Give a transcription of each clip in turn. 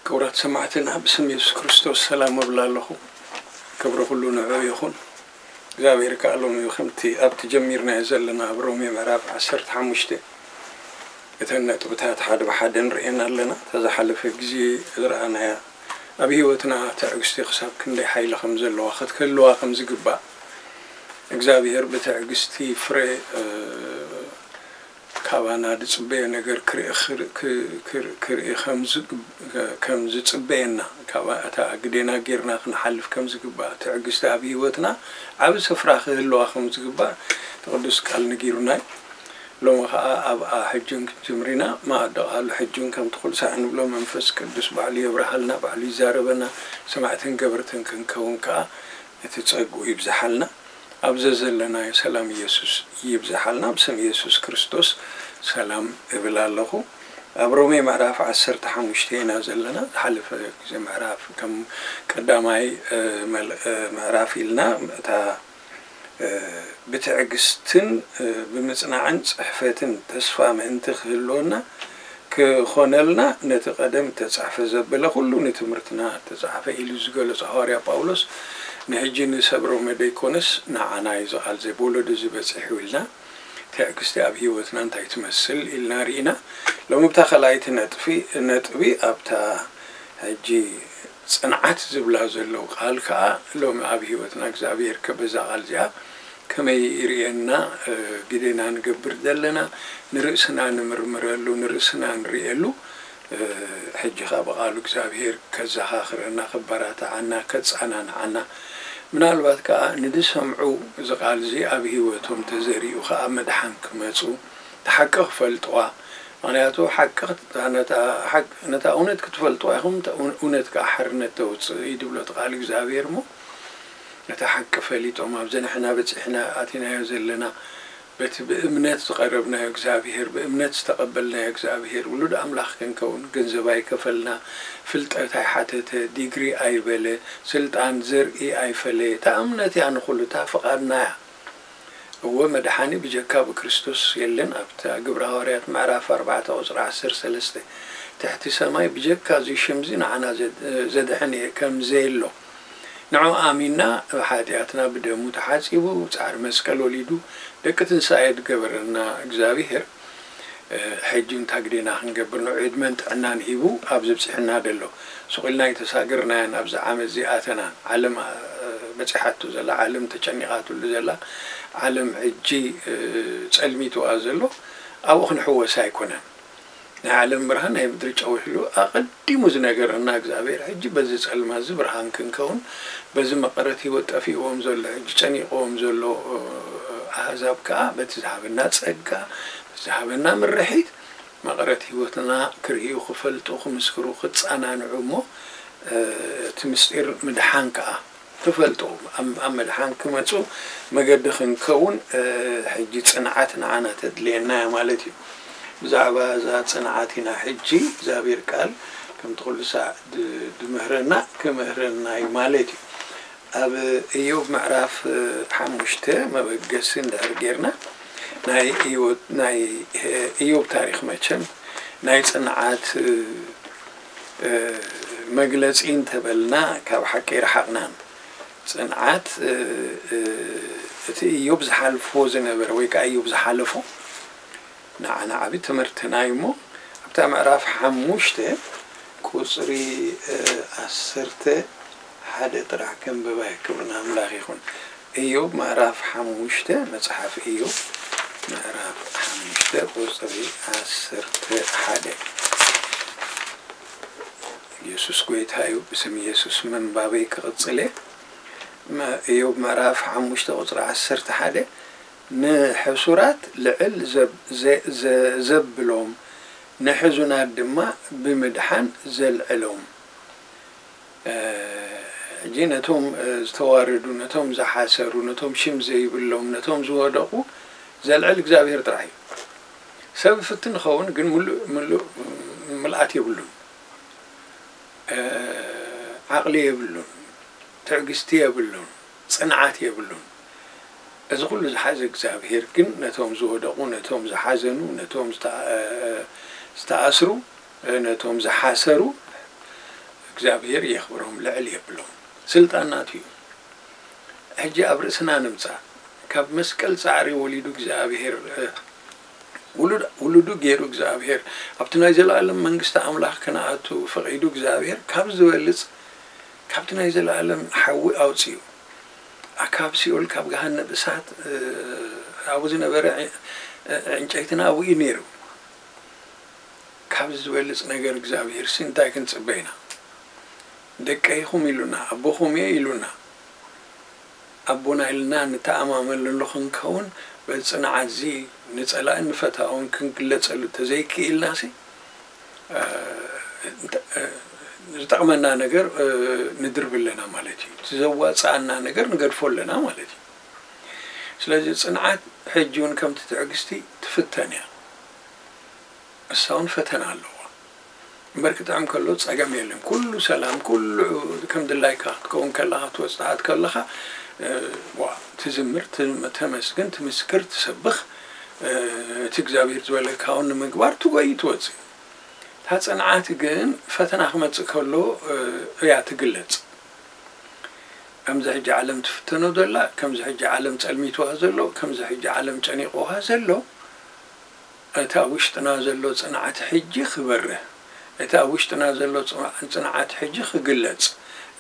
ክቡራት ሰማዕትና፣ ብስም የሱስ ክርስቶስ ሰላም እብል ኣለኹ። ክብሪ ኩሉ ንዕኡ ይኹን። እግዚኣብሔር ከኣ ሎሚ ከምቲ ኣብቲ ጀሚርናዮ ዘለና ኣብ ሮሜ ምዕራፍ ዓሰርተ ሓሙሽተ እተን ነጥብታት ሓደ ብሓደ ንርእየን ኣለና። እታ ዝሓለፈ ግዜ ዝረኣናያ ኣብ ህይወትና ትዕግስቲ ክሳብ ክንደይ ሓይሊ ከም ዘለዋ፣ ክትህልዋ ከም ዝግባእ፣ እግዚኣብሔር ብትዕግስቲ ፍረ፣ እ፣ ካባና ዝጽበዮ ነገር ክርኢ፣ ክር-፣ ክ-፣ ክር-፣ ክርኢ ከም ዝግ-፣ ከም ዝጽበየና፣ ካብ እታ ግዴና ጌርና ክንሓልፍ ከም ዝግባእ፣ ትዕግስቲ ኣብ ህይወትና ዓቢ ስፍራ ክህልዋ ከም ዝግባእ እቲ ቅዱስ ቃል ነጊሩና እዩ። ሎሚ ኸኣ ኣብኣ ሕጂ እውን ክንጅምር ኢና። መኣዲ ቃሉ ሕጂ እውን ከምቲ ኩሉ ሳዕ እንብሎ መንፈስ ቅዱስ ባዕሉ የብርሃልና፣ ባዕሉ ይዛረበና፣ ሰማዕትን ገበርትን ክንከውን ከኣ እቲ ጸግኡ ይብዝሓልና። ኣብ ዘዘለናዮ ሰላም ኢየሱስ ይብዝሓልና። ብስም ኢየሱስ ክርስቶስ ሰላም እብል ኣለኹ። ኣብ ሮሜ ምዕራፍ ዓሰርተ ሓሙሽተ ኢና ዘለና። ዝሓለፈ ግዜ ምዕራፍ ከም ቀዳማይ፣ እ፣ መል-፣ እ፣ ምዕራፍ ኢልና እታ፣ እ፣ ብትዕግስትን፣ እ፣ ብምጽናዕን ጽሕፈትን ተስፋ ምእንቲ ክህልወና ክኾነልና ነቲ ቀደም እተጻሕፈ ዘበለ ኩሉ ንትምህርትና እተጻሕፈ ኢሉ ዝገለጾ ሃዋርያ ጳውሎስ ንሕጂ ንሰብ ሮሜ ደይኮነስ ንዓና እዩ እዚ ቃል እዚ ብወለዶ እዚ በጺሑ ኢልና ትዕግስቲ ኣብ ህይወትና እንታይ ትመስል ኢልና ርኢና። ሎሚ ብታ ካልኣይቲ ነጥፊ-፣ ነጥቢ ኣብታ ሕጂ ጽንዓት ዝብላ ዘለዉ ቃል ከኣ ሎሚ ኣብ ህይወትና እግዚኣብሔር ከ በዛ ቃል እዚኣ ከመይ ይርእየና፣ እ፣ ግዴና ንገብር ዘለና፣ ንርእስና ንምርምረሉ፣ ንርእስና ንርእየሉ፣ እ፣ ሕጂ ኸኣ ብቓሉ እግዚኣብሔር ከዘኻኽረና፣ ከበራትዓና፣ ከጸናንዓና፣ ምናልባት ከኣ ንዝሰምዑ እዚ ቃል እዚ ኣብ ህይወቶም ተዘሪኡ ኸኣ መድሓን ክመጹ፣ እቲ ሓቂ ክፈልጥዋ። ምኽንያቱ ሓቂ ክት-፣ ነታ ሓቅ-፣ ነታ እውነት ክትፈልጥዋ ኢኹም፣ እታ እው-፣ እውነት ከኣ ሓርነት ተውጽእ እዩ ዝብሎ እቲ ቃል እግዚኣብሔር እሞ፣ ነታ ሓቂ ፈሊጦም፣ ኣብዚ ንሕና በጺሕና ኣቲናዮ ዘለና፣ በቲ ብእምነት ዝቐረብናዮ እግዚኣብሔር፣ ብእምነት ዝተቐበልናዮ እግዚኣብሔር፣ ውሉድ ኣምላኽ ክንከውን፣ ገንዘብ ኣይከፈልና፣ ፍልጠት ኣይሓተተ፣ ዲግሪ ኣይበለ፣ ስልጣን፣ ዘርኢ ኣይፈለየ። እታ እምነት እያ ንኹሉ፣ እታ ፍቓድና እያ። እወ፣ መድሓኒ ብጀካ ብክርስቶስ የለን። ኣብታ ግብረ ሃዋርያት ምዕራፍ ኣርባዕተ ቁጽሪ ዓሰርተ ሰለስተ፣ ትሕቲ ሰማይ ብጀካ እዚ ሽም እዚ ንዓና ዘድ-፣ ዘድሕን እየ ከም ዘየሎ፣ ንዑ ኣሚንና፣ ሓጢኣትና ብደሙ ተሓጺቡ፣ ጻዕሪ መስቀል ወሊዱ፣ ደቂ ትንሳኤ ዝገበረና እግዚኣብሔር፣ እ፣ ሕጂ እንታይ ግዴና ክንገብር፣ ንዑ ዕድመን ጥዕናን ሂቡ ኣብዚ ኣብጺሑና ዘሎ። ስቕ ኢልና ኣይተሳገርናያን፣ ኣብዚ ዓመት እዚ ኣተናን። ዓለም፣ እ፣ በጺሓቶ ዘላ፣ ዓለም ተጨኒቓትሉ ዘላ፣ ዓለም ሕጂ፣ እ፣ ጸልሚትዋ ዘሎ፣ ኣብኡ ክንሕወስ ኣይኮነን። ናይ ዓለም ብርሃን ናይ ምድሪ ጨው ኢሉ ኣቐዲሙ ዝነገረና እግዚኣብሔር፣ ሕጂ በዚ ጸልማት እዚ ብርሃን ክንከውን፣ በዚ መቐረት ህይወት ጠፊእዎም ዘሎ፣ ሕጂ ጨኒቕዎም ዘሎ፣ እ፣ ኣህዛብ ከኣ በቲ ዝሃበና ጸጋ፣ በቲ ዝሃበና ምርሒት፣ መቐረት ህይወትና ክርእዩ፣ ክፈልጡ፣ ክምስክሩ፣ ክጸናንዑ እሞ፣ እ፣ እቲ ምስጢር ምድሓን ከኣ ክፈልጡ፣ ኣብ፣ ኣብ ምድሓን ክመጹ መገዲ ክንከውን፣ እ፣ ሕጂ ጽንዓት ንዓና ተድልየና እያ ማለት እዩ። ብዛዕባ እዛ ጽንዓት ኢና ሕጂ እግዚኣብሔር ቃል ከምቲ ኩሉ ሳዕ ድ-፣ ድምህረና፣ ክምህረና እዩ ማለት እዩ። ኣብ ኢዮብ ምዕራፍ፣ እ፣ ሓሙሽተ መበገሲ እንድሕር ጌርና፣ ናይ ኢዮ-፣ ናይ፣ እ፣ ኢዮብ ታሪኽ መቸም ናይ ጽንዓት፣ እ፣ እ፣ መግለጺ እንተበልና ካብ ሓቂ ኣይረሓቕናን። ጽንዓት፣ እ፣ እ፣ እቲ ኢዮብ ዝሓልፎ ዝነበረ ወይ ከኣ ኢዮብ ዝሓለፎ ንዓና ዓቢ ትምህርትና እዩ እሞ፣ ኣብታ ምዕራፍ ሓሙሽተ ቁጽሪ፣ እ፣ ዓሰርተ ሓደ ጥራሕ ከንብባ እየ። ክብሪ ንኣምላኽ ይኹን። ኢዮብ ምዕራፍ ሓሙሽተ፣ መጽሓፍ ኢዮብ ምዕራፍ ሓሙሽተ ቁጽሪ ዓሰርተ ሓደ። ኢየሱስ ጐይታ እዩ። ብስም ኢየሱስ ምንባበይ ክቕጽል እየ። መ-፣ ኢዮብ ምዕራፍ ሓሙሽተ ቁጽሪ ዓሰርተ ሓደ፣ ንሕሱራት ልዕል ዘብ-፣ ዘ-፣ ዘ-፣ ዘብሎም፣ ንሕዙናት ድማ ብምድሓን ዘልዕሎም። እ፣ ሕጂ ነቶም፣ እ፣ ዝተዋረዱ፣ ነቶም ዝሓሰሩ፣ ነቶም ሽም ዘይብሎም፣ ነቶም ዝወደቑ ዘልዕል እግዚኣብሔር ጥራሕ እዩ። ሰብ ይፍትን ይኸውን፣ ግን ምሉእ፣ ምሉእ ምልኣት የብሉን። እ፣ ዓቕሊ የብሉን፣ ትዕግስቲ የብሉን፣ ጽንዓት የብሉን። እዚ ኩሉ ዝሓዘ እግዚኣብሔር ግን ነቶም ዝወደቑ፣ ነቶም ዝሓዘኑ፣ ነቶም ዝተ-፣ እ፣ ዝተኣስሩ፣ እ፣ ነቶም ዝሓሰሩ፣ እግዚኣብሔር የኽብሮም፣ ልዕል የብሎም። ስልጣን ናቱ እዩ። ሕጂ ኣብ ርእስና ንምጻእ። ካብ መስቀል ጻዕሪ ወሊዱ እግዚኣብሔር፣ እ፣ ውሉድ-፣ ውሉዱ ገይሩ እግዚኣብሔር፣ ኣብቲ ናይ ዘለኣለም መንግስቲ ኣምላኽ ክንኣቱ ፈቒዱ እግዚኣብሔር፣ ካብ ዝበልጽ፣ ካብቲ ናይ ዘለኣለም ሓዊ ኣውጺኡ፣ ኣ-፣ ካብ ሲኦል፣ ካብ ገሃነብ እሳት፣ እ፣ ኣብኡ ዝነበረ ዕ-፣ እ፣ ዕንጨይትና ኣብኡ እዩ ነይሩ። ካብዚ ዝበልጽ ነገር እግዚኣብሔር ሲ እንታይ ክንጽበ ኢና? ደቀይኹም ኢሉና፣ ኣቦኹም እየ ኢሉና። ኣቦና ኢልና ንተኣማመነሉ ክንከውን፣ በዚ ጽንዓትዚ ንጸላእን ንፈታውን ክንግለጸሉ ተዘይክኢልናሲ፣ እ፣ እንተ-፣ እ፣ ዝጠቕመና ነገር፣ እ፣ ንድርብ ኣለና ማለት እዩ። እቲ ዘዋጽኣና ነገር ንገድፎ ኣለና ማለት እዩ። ስለዚ ጽንዓት ሕጂ እውን ከምቲ ትዕግስቲ ትፍተን እያ። እሳ እውን ፈተና ኣለዋ። እምበር ክጥዕም ከሎ ጸገም የለን። ኩሉ ሰላም፣ ኩሉ ከም ድላይካ ክትከውን ከለኻ፣ ክትወጽእ ከለኻ፣ እ፣ ዋ፣ ትዝምር፣ ትም-፣ ተመስግን፣ ትምስክር፣ ትሰብኽ፣ እ፣ እቲ እግዚኣብሔር ዝበለካ እውን ንምግባር ትጎይ ትወጽእ። እታ ጽንዓት ግን ፈተና ክመጽእ ከሎ፣ እ፣ እያ ትግለጽ። ከምዚ ሕጂ ዓለም ትፍተኖ ዘላ፣ ከምዚ ሕጂ ዓለም ጸልሚትዋ ዘሎ፣ ከምዚ ሕጂ ዓለም ጨኒቕዋ ዘሎ፣ እቲ ኣብ ውሽጥና ዘሎ ጽንዓት ሕጂ ክበርህ፣ እቲ ኣብ ውሽጥና ዘሎ ጽ-፣ ጽንዓት ሕጂ ክግለጽ፣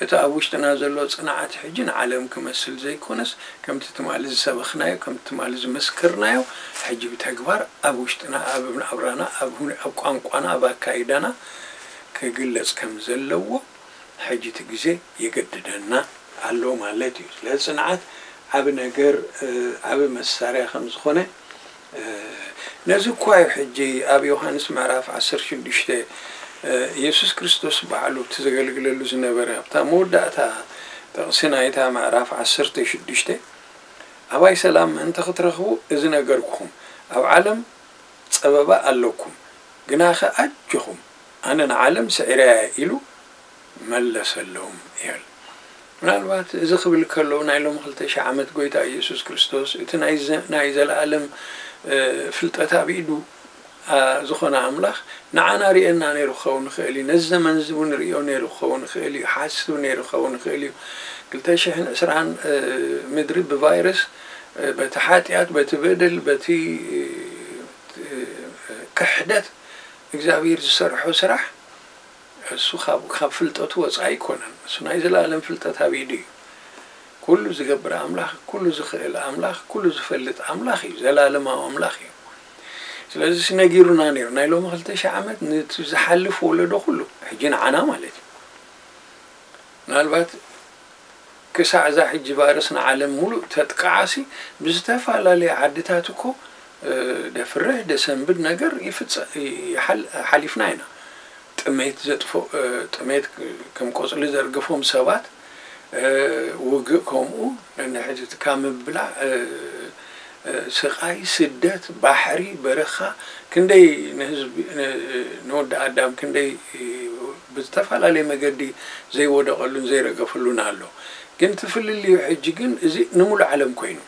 እቲ ኣብ ውሽጥና ዘሎ ጽንዓት ሕጂ ንዓለም ክመስል ዘይኮነስ፣ ከምቲ ትማሊ ዝሰበኽናዮ፣ ከምቲ ትማሊ ዝመስከርናዮ፣ ሕጂ ብተግባር ኣብ ውሽጥና፣ ኣብ ናብራና፣ ኣብ ሁነ-፣ ኣብ ቋንቋና፣ ኣብ ኣካይዳና ክግለጽ ከም ዘለዎ፣ ሕጂ እቲ ግዜ የገድደና ኣሎ ማለት እዩ። ስለዚ ጽንዓት ዓቢ ነገር፣ እ፣ ዓቢ መሳርያ ከም ዝኾነ፣ እ፣ ነዚ እኳ እዩ ሕጂ ኣብ ዮሃንስ ምዕራፍ ዓሰርተ ሽዱሽተ፣ እ፣ ኢየሱስ ክርስቶስ ባዕሉ እቲ ዘገልግለሉ ዝነበረ፣ ኣብታ መወዳእታ ጥቕሲ ናይታ ምዕራፍ ዓሰርተ ሽዱሽተ፣ ኣባይ ሰላም ምእንቲ ክትረኽቡ እዚ ነገርኩኹም፣ ኣብ ዓለም ጸበባ ኣለኩም፣ ግናኸ ኣጆኹም፣ ኣነ ንዓለም ስዒረያ እየ ኢሉ መለሰሎም ይብል። ምናልባት እዚ ክብል ከሎ ናይ ሎሚ ክልተ ሺሕ ዓመት ጎይታ ኢየሱስ ክርስቶስ እቲ ናይ ዘ-፣ ናይ ዘለኣለም፣ እ፣ ፍልጠት ኣብ ኢዱ፣ ኣ፣ ዝኾነ ኣምላኽ ንዓና ርእየና ነይሩ ክኸውን ይኽእል እዩ። ነዚ ዘመን እዚ እውን ርእዮ ነይሩ ክኸውን ይኽእል እዩ። ሓስብ ነይሩ ክኸውን ይኽእል እዩ። ክልተ ሽሕን ዕስራን፣ እ፣ ምድሪ ብቫይረስ፣ እ፣ በቲ ሓጢኣት፣ በቲ በደል፣ በቲ፣ እ፣ ክሕደት እግዚኣብሔር ዝሰርሖ ስራሕ እሱ ካብ፣ ካብ ፍልጠቱ ወጻኢ ኣይኮነን። እሱ ናይ ዘላለም ፍልጠት ኣብ ኢዱ እዩ። ኩሉ ዝገብር ኣምላኽ፣ ኩሉ ዝኽእል ኣምላኽ፣ ኩሉ ዝፈልጥ ኣምላኽ እዩ። ዘላለማዊ ኣምላኽ እዩ። ስለዚ ነጊሩና ነይሩ። ናይ ሎሚ ክልተ ሺሕ ዓመት ነቲ ዝሓልፍ ወለዶ ኩሉ፣ ሕጂ ንዓና ማለት እዩ። ምናልባት ክሳዕ እዛ ሕጂ ቫይረስ ንዓለም ሙሉእ ተጥቅዓሲ፣ ብዝተፈላለየ ዓድታት እኮ፣ እ፣ ደፍርህ ደሰንብድ ነገር ይፍጸ-፣ ይሓል-፣ ሓሊፍና ኢና። ጥሜት ዘጥፍኦ፣ እ፣ ጥሜት ከም ቆጽሊ ዘርግፎም ሰባት፣ እ፣ ውግእ ከምኡ፣ ነንሕድሕድ ካብ ምብላዕ፣ እ፣ እ፣ ስቓይ፣ ስደት፣ ባሕሪ፣ በረኻ፣ ክንደይ ንህዝቢ፣ ን-፣ ንወዲ ኣዳም ክንደይ፣ እ፣ ብዝተፈላለየ መገዲ ዘይወደቐሉን ዘይረገፈሉን ኣሎ። ግን እቲ ፍልልዩ ሕጂ ግን እዚ ንሙሉእ ዓለም ኮይኑ።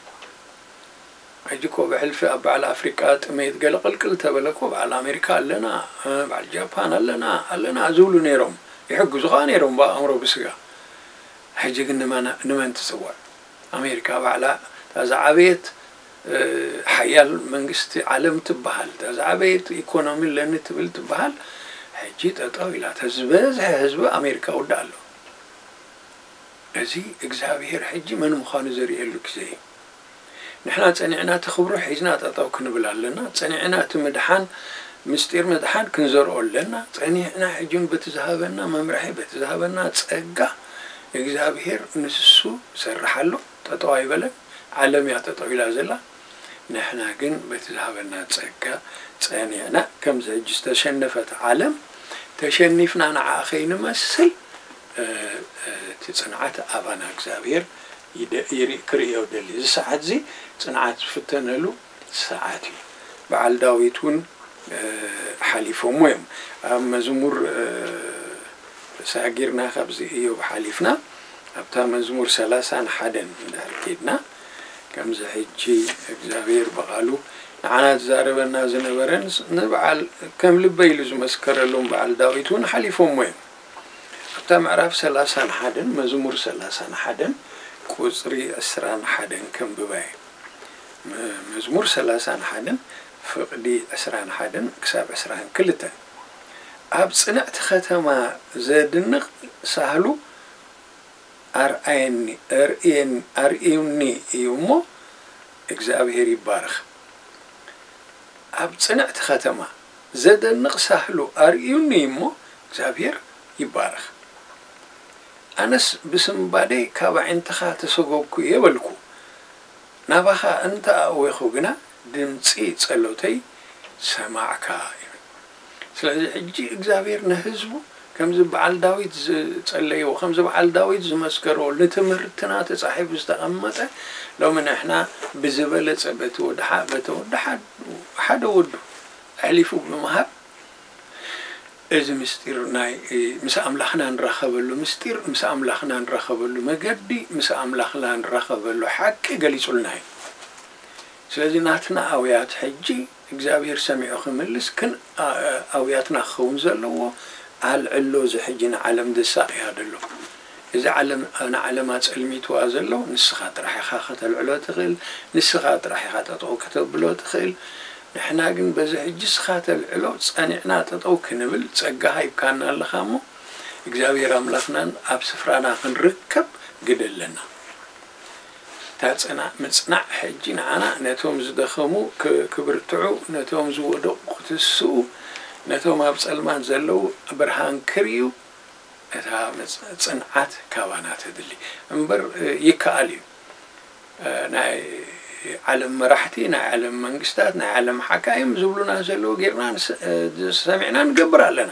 ሕጂ እኮ ብሕልፊ ኣብ በዓል ኣፍሪቃ ጥሜት ገለ ቅልቅል ተበለ እኮ በዓል ኣሜሪካ ኣለና፣ እ፣ በዓል ጃፓን ኣለና፣ ኣለና ዝብሉ ነይሮም። ይሕግዙ ኸኣ ነይሮም ብኣእምሮ ብስጋ። ሕጂ ግን ንመን፣ ንመን ትጽውዕ? ኣሜሪካ ባዕላ እታ ዝዓበየት፣ እ፣ ሓያል መንግስቲ ዓለም ትበሃል፣ እታ ዝዓበየት ኢኮኖሚ ኣለኒ ትብል ትበሃል፣ ሕጂ ጠጠው ኢላ። እታ ዝበዝሐ ህዝቢ ኣሜሪካ ውዳእ ኣሎ። እዚ እግዚኣብሔር ሕጂ መን ምዃኑ ዘርእየሉ ግዜ እዩ። ንሕና ጸኒዕና እቲ ክብሩ ሒዝና ጠጠው ክንብል ኣለና። ጸኒዕና እቲ ምድሓን፣ ምስጢር ምድሓን ክንዘርኦ ኣለና። ጸኒዕና ሕጂ እውን በቲ ዝሃበና መምርሒ፣ በቲ ዝሃበና ጸጋ እግዚኣብሔር ንሱ ይሰርሕ ኣሎ። ጠጠው ኣይበለን። ዓለም እያ ጠጠው ኢላ ዘላ። ንሕና ግን በቲ ዝሃበና ጸጋ ጸኒዕና፣ ከምዚ ሕጂ ዝተሸነፈት ዓለም ተሸኒፍና ንዓኣ ከይንመስል፣ እ፣ እ፣ እቲ ጽንዓት ኣባና እግዚኣብሔር ይደ-፣ ይርኢ-፣ ክርእዮ ደሊ። እዚ ሰዓት እዚ ጽንዓት ዝፍተነሉ ሰዓት እዩ። በዓል ዳዊት እውን፣ እ፣ ሓሊፎሞ እዮም። ኣብ መዝሙር፣ እ፣ ተሳጊርና ካብዚ እዮብ ሓሊፍና ኣብታ መዝሙር ሰላሳን ሓደን እንድሕር ኬድና፣ ከምዚ ሕጂ እግዚኣብሔር ብቓሉ ንዓና ዝዛረበና ዝነበረን ንበዓል ከም ልበይ ኢሉ ዝመስከረሎም በዓል ዳዊት እውን ሓሊፎሞ እዮም። ኣብ እታ ምዕራፍ ሰላሳን ሓደን፣ መዝሙር ሰላሳን ሓደን ቁጽሪ ዕስራን ሓደን ከንብባ እየ። መ-፣ መዝሙር ሰላሳን ሓደን ፍቕዲ ዕስራን ሓደን ክሳብ ዕስራን ክልተን። ኣብ ጽንዕቲ ከተማ ዘድንቕ ሳህሉ ኣርኣየኒ፣ ኣርእየን-፣ ኣርእዩኒ እዩ እሞ እግዚኣብሔር ይባረኽ። ኣብ ጽንዕቲ ከተማ ዘደንቕ ሳህሉ ኣርእዩኒ እሞ እግዚኣብሔር ይባረኽ። ኣነስ ብስንባደይ ካብ ኣዒንትኻ ተሰጎግኩ እየ በልኩ። ናባኻ እንተ ኣእወኹ ግና ድምጺ ጸሎተይ ሰማዕካ ይብል። ስለዚ ሕጂ እግዚኣብሔር ንህዝቡ ከምዚ በዓል ዳዊት ዝጸለይዎ፣ ከምዚ በዓል ዳዊት ዝመስከሮ፣ ንትምህርትና ተጻሒፉ ዝተቐመጠ፣ ሎሚ ንሕና ብዝበለጸ በቲ ወዲ ሓ-፣ በቲ ወዲ ሓ-፣ ሓደ ወዱ ኣሕሊፉ ብምሃብ፣ እዚ ምስጢር ናይ፣ እ፣ ምስ ኣምላኽና ንራኸበሉ ምስጢር፣ ምስ ኣምላኽና ንራኸበሉ መገዲ፣ ምስ ኣምላኽና ንራኸበሉ ሓቂ ገሊጹልና እዩ። ስለዚ ናትና ኣውያት ሕጂ እግዚኣብሔር ሰሚዑ ክምልስ ክን-፣ ኣ-፣ ኣውያትና ክኸውን ዘለዎ ኣልዕሎ፣ እዚ ሕጂ ንዓለም ዘሳቕያ ዘሎ። እዚ ዓለም፣ ንዓለም ኣጸልሚትዋ ዘሎ ንስኻ ጥራሕ ኢኻ ከተልዕሎ ትኽእል፣ ንስኻ ጥራሕ ኢኻ ጠጠው ከተብሎ ትኽእል። ንሕና ግን በዚ ሕጂ እስኻ ተልዕሎ ጸኒዕና ጠጠው ክንብል ጸጋ ሃይብካና ኣለኻ እሞ፣ እግዚኣብሔር ኣምላኽናን ኣብ ስፍራና ክንርከብ ግደ ኣለና። እታ ጽና-፣ ምጽናዕ ሕጂ ንዓና ነቶም ዝደኸሙ ክ-፣ ክብርትዑ፣ ነቶም ዝወደቑ ክትስኡ፣ ነቶም ኣብ ጸልማት ዘለዉ ብርሃን ክርእዩ፣ እታ ምጽ-፣ ጽንዓት ካባና ተድሊ። እምበር፣ እ፣ ይከኣል እዩ። እ፣ ናይ ዓለም መራሕቲ፣ ናይ ዓለም መንግስታት፣ ናይ ዓለም ሓካይም ዝብሉና ዘለዉ ጌርና ንስ-፣ እ፣ ሰሚዕና ንገብር ኣለና።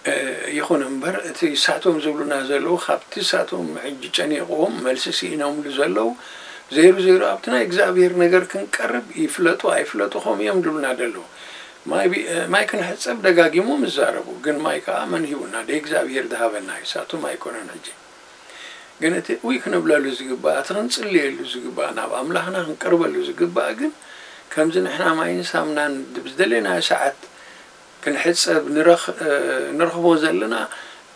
እ፣ ይኹን እምበር፣ እቲ ሳቶም ዝብሉና ዘለዉ፣ ካብቲ ሳቶም ሕጂ ጨኒቕዎም መልሲ ስኢኖምሉ ዘለዉ፣ ዘይሩ ዘይሩ ኣብቲ ናይ እግዚኣብሔር ነገር ክንቀርብ፣ ይፍለጡ ኣይፍለጡ ከምኡ እዮም ዝብሉና ዘለዉ። ማይ ቢ-፣ እ፣ ማይ ክንሕጸብ ደጋጊሞም ይዛረቡ፣ ግን ማይ ከኣ መን ሂቡና? ደይ እግዚኣብሔር ዝሃበና እዩ፣ ሳቶም ኣይኮነን። ሕጂ ግን እቲ እውይ ክንብለሉ ዝግባእ፣ እቲ ክንጽልየሉ ዝግባእ፣ ናብ ኣምላኽና ክንቀርበሉ ዝግባእ ግን፣ ከምዚ ንሕና ማይን ሳምናን ዝደለናዮ ሰዓት ክንሕጸብ ንረኽ-፣ እ፣ ንረኽቦ ዘለና፣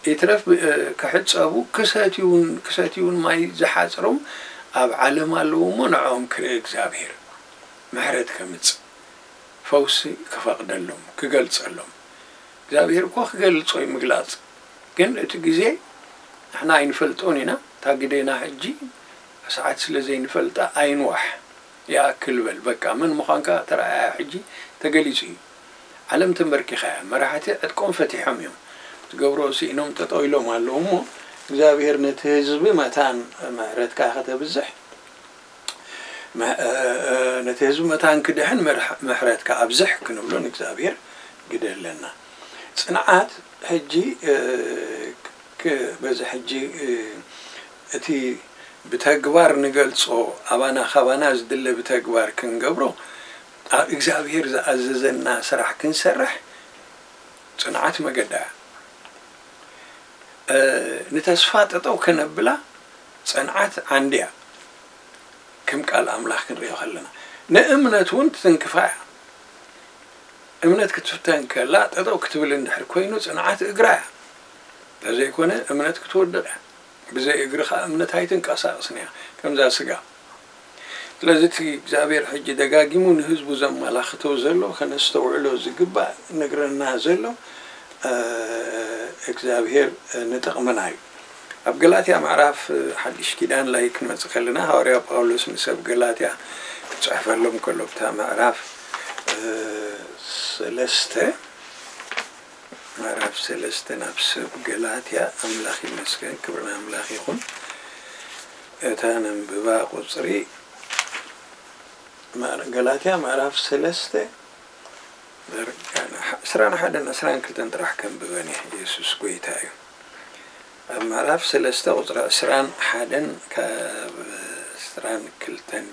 ይትረፍ ብ-፣ እ፣ ክሕጸቡ፣ ክሰትዩን፣ ክሰትዩን ማይ ዝሓጽሮም ኣብ ዓለም ኣለዉ እሞ፣ ንዕኦም ክርኢ እግዚኣብሔር ምሕረት ከምጽእ፣ ፈውሲ ክፈቕደሎም፣ ክገልጸሎም። እግዚኣብሔር እኮ ክገልጾ እዩ ምግላጽ። ግን እቲ ግዜ ንሕና ኣይንፈልጦን ኢና። እታ ግዜና ሕጂ ሰዓት ስለ ዘይንፈልጣ ኣይንዋሕ። ይኣክል በል፣ በቃ መን ምዃንካ ተረኣያ፣ ሕጂ ተገሊጹ እዩ። ዓለም ተንበርኪኻ እያ። መራሕቲ ዕጥቆም ፈቲሖም እዮም። ትገብሮ ስኢኖም ጠጠው ኢሎም ኣለዉ እሞ፣ እግዚኣብሔር ነቲ ህዝቢ መታን ምሕረትካ ከተብዝሕ፣ መ-፣ እ፣ እ፣ ነቲ ህዝቢ መታን ክድሕን ምርሕ-፣ ምሕረትካ ኣብዝሕ ክንብሎ ንእግዚኣብሔር ግደ ኣለና። ጽንዓት ሕጂ፣ እ፣ ክ-፣ በዚ ሕጂ፣ እ፣ እቲ ብተግባር ንገልጾ፣ ኣባና፣ ካባና ዝድለ ብተግባር ክንገብሮ፣ ኣብ እግዚኣብሔር ዝኣዘዘና ስራሕ ክንሰርሕ ጽንዓት መገዳ እያ። እ፣ ንተስፋ ጠጠው ከነብላ ጽንዓት ዓንዲ እያ። ከም ቃል ኣምላኽ ክንሪኦ ከለና፣ ንእምነት እውን ትትንክፋ እያ። እምነት ክትፍተን ከላ፣ ጠጠው ክትብል እንድሕር ኮይኑ፣ ጽንዓት እግራ እያ። እንተዘይኮነ፣ እምነት ክትወድቕ እያ። ብዘይ እግሪ ኸኣ እምነት ኣይትንቀሳቐስን እያ፣ ከምዛ ስጋ። ስለዚ እቲ እግዚኣብሔር ሕጂ ደጋጊሙ ንህዝቡ ዘመላኽቶ ዘሎ፣ ከነስተውዕሎ ዝግባእ፣ ነግረና ዘሎ፣ እ፣ እግዚኣብሔር ንጥቕምና እዩ። ኣብ ገላትያ ምዕራፍ ሓድሽ ኪዳን ላይ ክንመጽእ ከለና፣ ሃዋርያ ጳውሎስ ንሰብ ገላትያ ክጽሕፈሎም ከሎ፣ ብታ ምዕራፍ፣ እ፣ ሰለስተ፣ ምዕራፍ ሰለስተ ናብ ሰብ ገላትያ፣ ኣምላኽ ይመስገን፣ ክብሪ ንኣምላኽ ይኹን። እታ ነንብባ ቁጽሪ፣ ምዕራ-፣ ገላትያ ምዕራፍ ሰለስተ፣ ዕስራን ሓደን ዕስራን ክልተን ጥራሕ ከንብበን እየ። የሱስ ጐይታ እዩ። ኣብ ምዕራፍ ሰለስተ ቁጽሪ ዕስራን ሓደን ካብ ዕስራን ክልተን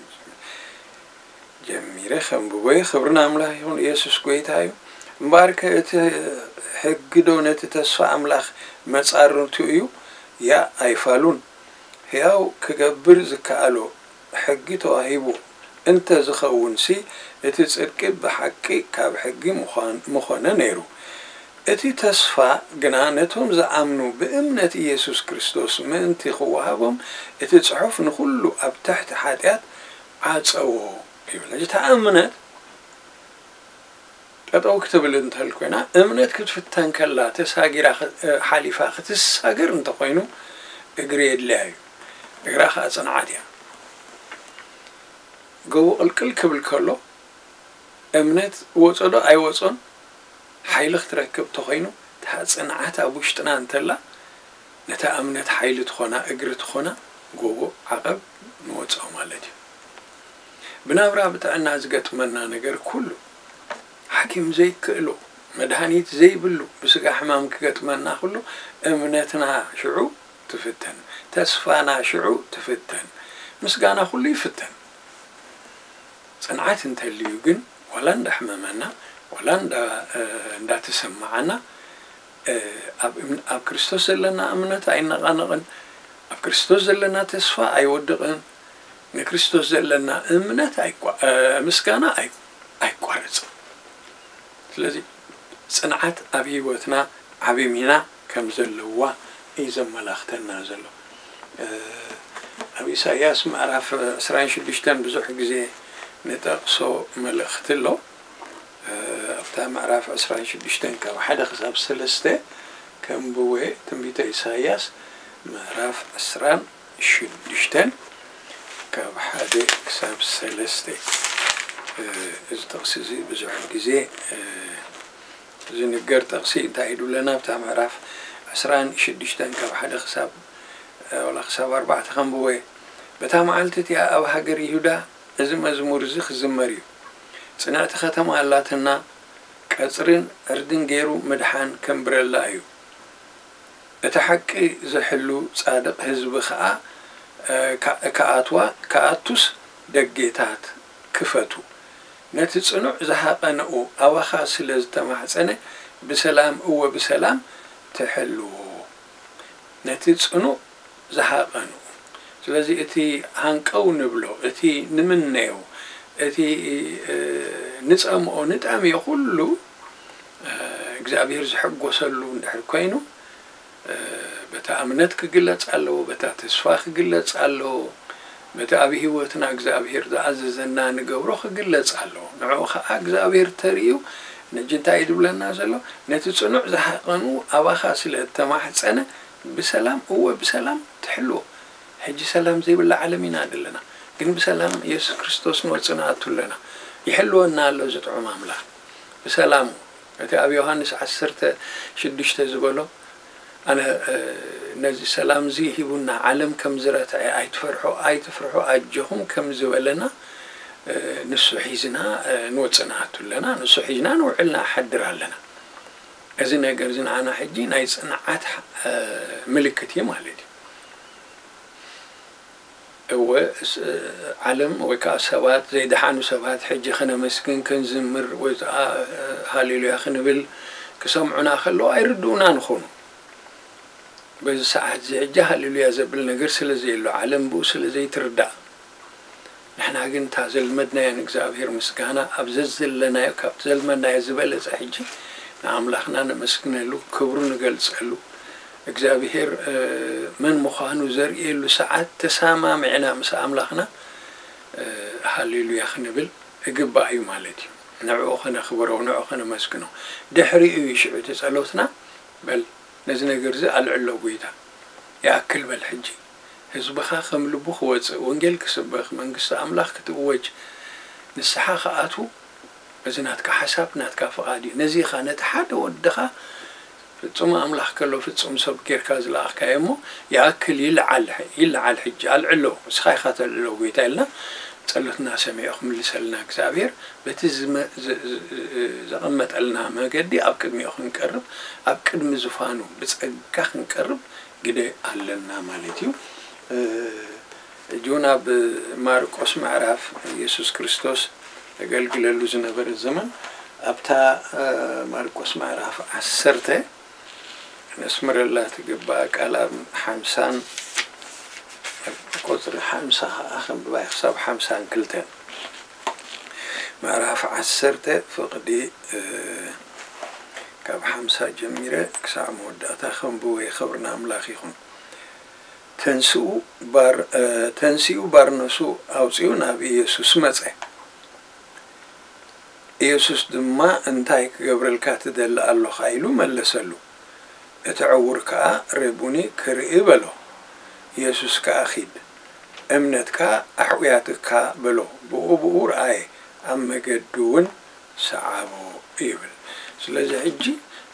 ጀሚረ ከንብቦ እየ። ክብሪ ንኣምላኽ ይኹን። የሱስ ጐይታ እዩ። እምበኣርከ እቲ ሕጊ ዶ ነቲ ተስፋ ኣምላኽ መጻርንቱ እዩ? ያእ ኣይፋሉን። ሕያው ክገብር ዝከኣሎ ሕጊ ተዋሂቡ እንተ ዝኸውንሲ፣ እቲ ጽድቂ ብሓቂ ካብ ሕጊ ምዃን-፣ ምኾነ ነይሩ። እቲ ተስፋ ግና ነቶም ዝኣምኑ ብእምነት ኢየሱስ ክርስቶስ ምእንቲ ክወሃቦም እቲ ጽሑፍ ንኹሉ ኣብ ትሕቲ ሓጢኣት ዓጸዎ ይብል። ሕጂ እታ እምነት ጠጠው ክትብል እንተል ኮይና፣ እምነት ክትፍተን ከላ ተሳጊራ ኽ-፣ ሓሊፋ ክትሳገር እንተኾይኑ እግሪ የድልያ እዩ። እግራ ከዓ ጽንዓት እያ። ጎቦ ቅልቅል ክብል ከሎ እምነት ወጾ ዶ ኣይወጾን ሓይሊ ክትረክብ ተኾይኑ፣ እታ ጽንዓት ኣብ ውሽጥና እንተላ ነታ እምነት ሓይሊ ትኾና፣ እግሪ ትኾና፣ ጎቦ ዓቐብ ንወጾ ማለት እዩ። ብናብራ ብጥዕና ዝገጥመና ነገር ኩሉ ሓኪም ዘይክእሎ፣ መድሃኒት ዘይብሉ ብስጋ ሕማም ክገጥመና ኩሉ እምነትና ሽዑ ትፍተን፣ ተስፋና ሽዑ ትፍተን፣ ምስጋና ኩሉ ይፍተን። ጽንዓት እንተልዩ ግን ዋላ እንዳሕመመና ዋላ እንዳ-፣ እ፣ እንዳተሰማዓና፣ እ፣ ኣብ እም-፣ ኣብ ክርስቶስ ዘለና እምነት ኣይነቓነቕን፣ ኣብ ክርስቶስ ዘለና ተስፋ ኣይወድቕን፣ ንክርስቶስ ዘለና እምነት ኣይቋ-፣ እ፣ ምስጋና ኣይ-፣ ኣይቋረጽን። ስለዚ ጽንዓት ኣብ ህይወትና ዓቢ ሚና ከም ዘለዋ እዩ ዘመላኽተና ዘሎ። እ፣ ኣብ ኢሳይያስ ምዕራፍ ዕስራን ሽዱሽተን ብዙሕ ግዜ ንጠቕሶ መልእኽቲ ኣሎ። እ፣ ኣብታ ምዕራፍ ዕስራን ሽዱሽተን ካብ ሓደ ክሳብ ሰለስተ ከንብቦ እየ። ትንቢተ ኢሳይያስ ምዕራፍ ዕስራን ሽዱሽተን ካብ ሓደ ክሳብ ሰለስተ። እ፣ እዚ ጥቕሲ እዚ ብዙሕ ግዜ፣ እ፣ ዝንገር ጥቕሲ እንታይ እዩ ዝብለና? ኣብታ ምዕራፍ ዕስራን ሽዱሽተን ካብ ሓደ ክሳብ፣ እ፣ ዋላ ክሳብ ኣርባዕተ ከንብቦ እየ። በታ መዓልቲ እቲኣ ኣብ ሃገር ይሁዳ እዚ መዝሙር እዚ ክዝመር እዩ። ጽንዕቲ ከተማ ኣላትና፣ ቀጽርን ዕርድን ገይሩ ምድሓን ከንብረላ እዩ። እቲ ሓቂ ዝሕሉ ጻድቕ ህዝቢ ኸኣ፣ እ፣ ከ-፣ ክኣትዋ፣ ክኣቱስ ደጌታት ክፈቱ። ነቲ ጽኑዕ ዝሃቐነኡ ኣባኻ ስለ ዝተማሕጸነ፣ ብሰላም፣ እወ፣ ብሰላም ትሕልዎ። ነቲ ጽኑዕ ዝሃቐኑ። ስለዚ እቲ ሃንቀው ንብሎ፣ እቲ ንምነዮ፣ እቲ፣ እ፣ ንጸምኦ፣ ንጠምዮ ኩሉ፣ እ፣ እግዚኣብሔር ዝሕጎሰሉ እንድሕር ኮይኑ፣ እ፣ በታ እምነት ክግለጽ ኣለዎ፣ በታ ተስፋ ክግለጽ ኣለዎ፣ በቲ ኣብ ህይወትና እግዚኣብሔር ዝኣዘዘና ንገብሮ ክግለጽ ኣለዎ። ንዕኡ ኸኣ እግዚኣብሔር ተርእዩ፣ ነጂ እንታይ እዩ ዝብለና ዘሎ? ነቲ ጽኑዕ ዝሃቐኑ ኣባኻ ስለ እተማሕጸነ፣ ብሰላም፣ እወ፣ ብሰላም ትሕልዎ። ሕጂ ሰላም ዘይብላ ዓለም ኢና ዘለና። ግን ብሰላም የሱስ ክርስቶስ ንወጽእ ንኣቱ ኣለና። ይሕልወና ኣሎ እዚ ጥዑም ኣምላኽ። ብሰላሙ። እቲ ኣብ ዮሃንስ ዓሰርተ ሽዱሽተ ዝበሎ፣ ኣነ፣ እ፣ ነዚ ሰላም እዚ ሂቡና፣ ዓለም ከም ዝረትዐ፣ ኣይትፈርሑ፣ ኣይትፍርሑ፣ ኣጆኹም ከም ዝበለና፣ እ፣ ንሱ ሒዝና፣ እ፣ ንወጽእ ንኣቱ ኣለና። ንሱ ሒዝና ንውዕል ንሓድር ኣለና። እዚ ነገር እዚ ንዓና ሕጂ ናይ ጽንዓት፣ እ፣ ምልክት እዩ ማለት እዩ። እወ፣ ስ-፣ ዓለም ወይ ከኣ ሰባት፣ ዘይደሓኑ ሰባት፣ ሕጂ ከነመስግን፣ ክንዝምር ወይ ከኣ ሃሌሉያ ክንብል ክሰምዑና ከለዉ ኣይርድኡናን ይኾኑ። በዚ ሰዓት እዚ ሕጂ ሃሌሉያ ዘብል ነገር ስለ ዘየሎ፣ ዓለም ብኡ ስለ ዘይትርዳእ፣ ንሕና ግን እታ ዘልመድናያ ንእግዚኣብሔር ምስጋና ኣብ ዘዘለናዮ፣ ካብቲ ዘልመድናዮ ዝበለጸ ሕጂ ንኣምላኽና ነመስግነሉ፣ ክብሩ ንገልጸሉ፣ እግዚኣብሔር፣ እ፣ መን ምዃኑ ዘርእየሉ ሰዓት ተሰማሚዕና ምስ ኣምላኽና፣ እ፣ ሃሌሉያ ክንብል እግባእ እዩ ማለት እዩ። ንዕኡ ከነኽብሮ፣ ንዕኡ ከነመስግኖ። ድሕሪኡ እዩ ሽዑ እቲ ጸሎትና፣ በል ነዚ ነገር እዚ ኣልዕሎ ጐይታ፣ ይኣክል በል ሕጂ። ህዝብኻ ከም ልቡ ክወጽእ፣ ወንጌል ክስበኽ፣ መንግስቲ ኣምላኽ ክትእወጅ፣ ንስሓ ክኣትዉ፣ እዚ ናትካ ሓሳብ፣ ናትካ ፍቓድ እዩ። ነዚ ኢኻ ነቲ ሓደ ወድኻ ፍጹም ኣምላኽ ከሎ ፍጹም ሰብ ጌርካ ዝለኣኽካዮ እሞ፣ ይኣክል ይለዓል፣ ይለዓል ሕጂ፣ ኣልዕሎ፣ ንስኻ ኢኻ ተልዕሎ ጐይታ ኢልና፣ ጸሎትና ሰሚዑ ክምልሰልና እግዚኣብሔር፣ በቲ ዝመ-፣ ዝ-፣ ዝ-፣ ዘቐመጠልና መገዲ ኣብ ቅድሚኡ ክንቀርብ፣ ኣብ ቅድሚ ዙፋኑ ብጸጋ ክንቀርብ ግደ ኣለና ማለት እዩ። እ፣ ሕጂ እውን ኣብ ማርቆስ ምዕራፍ፣ ኢየሱስ ክርስቶስ ዘገልግለሉ ዝነበረ ዘመን፣ ኣብታ፣ እ፣ ማርቆስ ምዕራፍ ዓሰርተ ነስምረላ ትግባእ ቃል ኣብ ሓምሳን፣ ቁጽሪ ሓምሳ ኸዓ ከንብባ ክሳብ ሓምሳን ክልተን። ምዕራፍ ዓሰርተ ፍቕዲ፣ እ፣ ካብ ሓምሳ ሳ ጀሚረ ክሳዕ መወዳእታ ከንብቦ እየ። ክብሪ ንኣምላኽ ይኹን። ተንስኡ ባር-፣ እ፣ ተንሲኡ ባርነሱ ኣውጺኡ ናብ ኢየሱስ መጸ። ኢየሱስ ድማ፣ "እንታይ ክገብረልካ ትደሊ ኣሎኻ?" ኢሉ መለሰሉ። እቲ ዕዉር ከኣ፣ "ረቡኒ፣ ክርኢ" በሎ። ኢየሱስ ከኣ፣ "ኺድ፣ እምነትካ ኣሕውያትካ" በሎ። ብኡ ብኡ ረኣየ፣ ኣብ መገዱ እውን ሰዓቦ ይብል። ስለዚ ሕጂ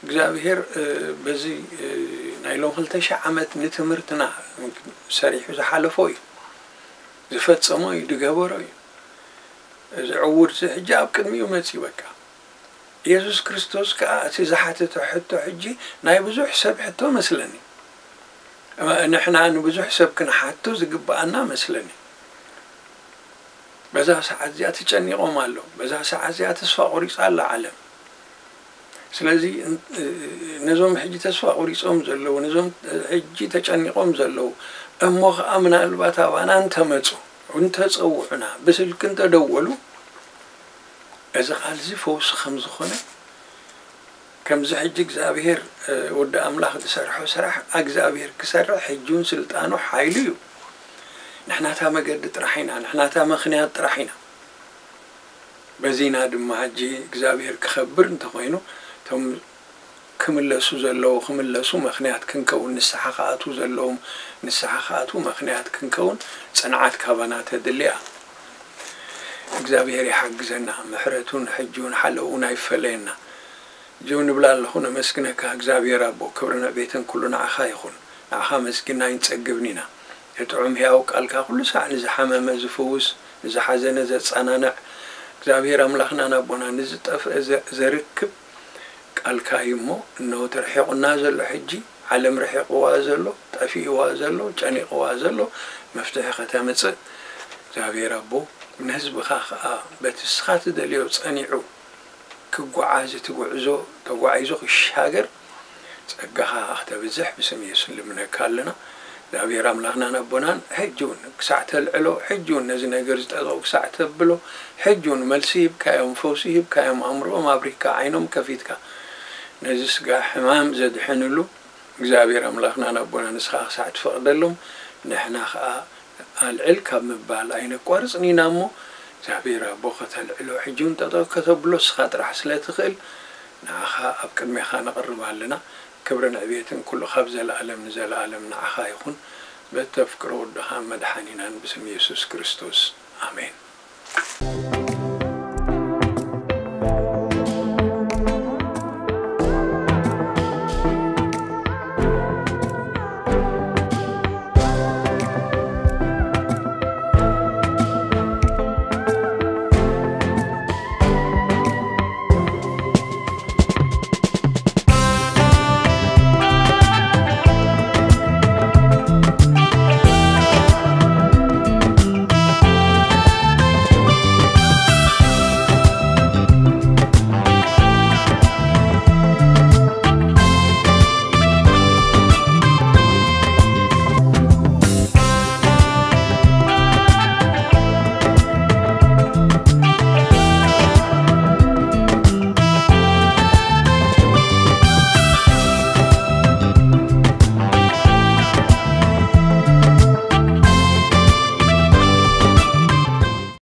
እግዚኣብሔር፣ እ፣ በዚ፣ እ፣ ናይ ሎም ክልተ ሺሕ ዓመት ንትምህርትና ሰሪሑ ዝሓለፎ እዩ፣ ዝፈጸሞ እዩ፣ ዝገበሮ እዩ። እዚ ዕዉር እዚ ሕጂ ኣብ ቅድሚኡ መጺኡ በቃ። ኢየሱስ ክርስቶስ ከኣ እቲ ዝሓተቶ ሕቶ ሕጂ ናይ ብዙሕ ሰብ ሕቶ መስለኒ። ንሕና ንብዙሕ ሰብ ክንሓቶ ዝግብኣና መስለኒ። በዛ ሰዓት እዚኣ ተጨኒቖም ኣለዉ። በዛ ሰዓት እዚኣ ተስፋ ቆሪጻ ኣላ ዓለም። ስለዚ ን-፣ ነዞም ሕጂ ተስፋ ቆሪጾም ዘለዉ፣ ነዞም ሕጂ ተጨኒቖም ዘለዉ፣ እሞ ኸኣ ምናልባት ኣባና እንተመጹ፣ እንተጸውዑና፣ ብስልኪ እንተደወሉ፣ እዚ ቃል እዚ ፈውሲ ከም ዝኾነ፣ ከምዚ ሕጂ እግዚኣብሔር፣ እ፣ ወዲ ኣምላኽ ዝሰርሖ ስራሕ፣ እግዚኣብሔር ክሰርሕ ሕጂ እውን ስልጣኑ ሓይሉ እዩ። ንሕናታ መገዲ ጥራሕ ኢና፣ ንሕናታ ምኽንያት ጥራሕ ኢና። በዚና ድማ ሕጂ እግዚኣብሔር ክኸብር እንተኾይኑ፣ እቶም ክምለሱ ዘለዉ ክምለሱ ምኽንያት ክንከውን፣ ንስሓ ክኣትዉ ዘለዎም ንስሓ ክኣትዉ ምኽንያት ክንከውን ጽንዓት ካባና ተድሊ እያ። እግዚኣብሔር ይሓግዘና፣ ምሕረቱን ሕጂውን ሓለውን ኣይፈለየና። ጅው ንብል ኣለኹ፣ ነመስግነካ እግዚኣብሔር ኣቦ፣ ክብርን ዕቤትን ኩሉ ንዓኻ ይኹን። ንዓኻ መስጊንና ኣይንጸግብን ኢና። እቲ ጥዑም ሕያው ቃልካ ኩሉ ሳዕ ንዝሓመመ ዝፍውስ፣ ንዝሓዘነ ዘጸናንዕ፣ እግዚኣብሔር ኣምላኽናን ኣቦና ንዝጠፍአ ዘ-፣ ዘርክብ ቃልካ እዩ እሞ፣ እነሆ ተርሒቑና ዘሎ ሕጂ፣ ዓለም ርሒቕዋ ዘሎ፣ ጠፊእዋ ዘሎ፣ ጨኒቕዋ ዘሎ መፍትሒ ከተምጽእ እግዚኣብሔር ኣቦ፣ ንህዝብኻ ኸኣ በቲ እስኻ ትደልዮ ጸኒዑ ክጓዓዝ፣ እቲ ጉዕዞ ተጓዒዙ ክሻገር ጸጋኻ ክተብዝሕ ብስም የሱስ ንልምነካ ኣለና። እግዚኣብሔር ኣምላኽናን ኣቦናን ሕጂ እውን ክሳዕ ተልዕሎ፣ ሕጂ እውን ነዚ ነገር ዝጠጠው ክሳዕ ተብሎ፣ ሕጂ እውን መልሲ ሂብካዮም፣ ፈውሲ ሂብካዮም፣ ኣእምሮኦም ኣብሪህካ፣ ዓይኖም ከፊትካ፣ ነዚ ስጋ ሕማም ዘድሕንሉ እግዚኣብሔር ኣምላኽናን ኣቦና ንስኻ ክሳዕ ትፈቕደሎም፣ ንሕና ኸኣ ኣልዕል ካብ ምባል ኣይነቋርጽን ኢና እሞ፣ እግዚኣብሔር ኣቦ ከተልዕሎ፣ ሕጂ እውን ጠጠው ከተብሎ ንስኻ ጥራሕ ስለ ትኽእል፣ ንዓኻ ኣብ ቅድሜኻ ነቕርብ ኣለና። ክብርን ዕቤትን ኩሉ ካብ ዘለኣለም ንዘለኣለም ንዓኻ ይኹን። በተፍቅሮ ወድኻ መድሓኒናን ብስም የሱስ ክርስቶስ። ኣሜን።